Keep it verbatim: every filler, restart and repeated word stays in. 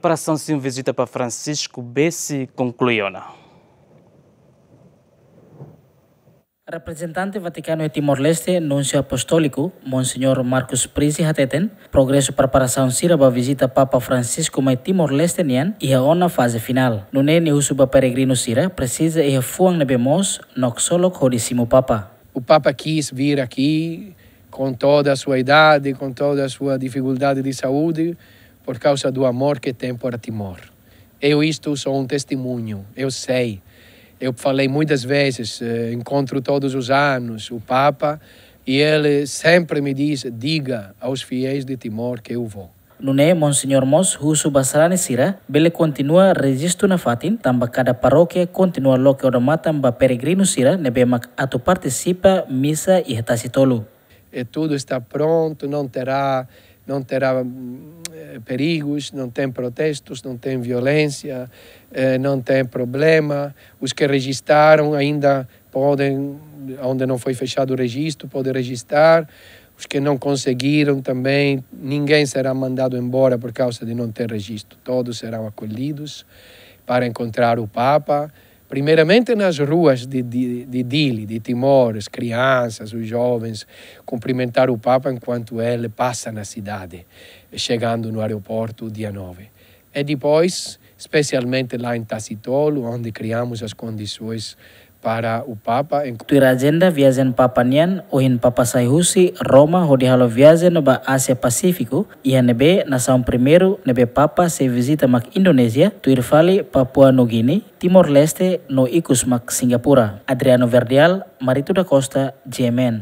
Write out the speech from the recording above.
Preparasaun sira ba vizita Papa Francisco bele konklui ona. Reprezentante Vatikanu iha Timor-Leste, Núnsiu Apostóliku, Monseñór Marcus Prizi hateten, progresu preparasaun sira ba vizita Papa Francisco mai Timor-Leste nian iha ona faze finál. Nune'e nia husu ba peregrinu sira presiza iha fuan ne'ebé moos no ksolok hodi simu Papa. O Papa quis vir aqui com toda a sua idade, com toda a sua dificuldade de saúde, por causa do amor que tem por Timor. Eu, isto sou um testemunho, eu sei. Eu falei muitas vezes, eh, encontro todos os anos o Papa e ele sempre me diz: "Diga aos fiéis de Timor que eu vou." Nune'e Monseñór mós husu ba sarani sira bele kontinua rejistu nafatin, tanba kada parókia kontinua loke odamatan ba peregrinu sira ne'ebé mak atu partisipa misa iha Tasitolu. E tudo está pronto, não terá, não terá, hum, eh, perigos, não tem protestos, não tem violência, eh, não tem problema. Os que registaram ainda podem, onde não foi fechado o registro, podem registrar. Os que não conseguiram também, ninguém será mandado embora por causa de não ter registro. Todos serão acolhidos para encontrar o Papa. Primeiramente nas ruas de, de, de Dili, de Timor, as crianças, os jovens, cumprimentar o Papa enquanto ele passa na cidade, chegando no aeroporto dia nove. E depois, especialmente lá em Tasitolu, onde criamos as condições para o Papa. Tuir ajenda viajen Papa nian, ohin Papa sai husi Roma hodi halo viajen ba Ázia Pasífiku, iha ne'ebé nasaun primeiru ne'ebé Papa sei vizita mak Indonézia, tuir fali Papua Nugini, Timor-Leste no ikus mak Singapura. Adriano Verdial, Marito da Costa, G M N.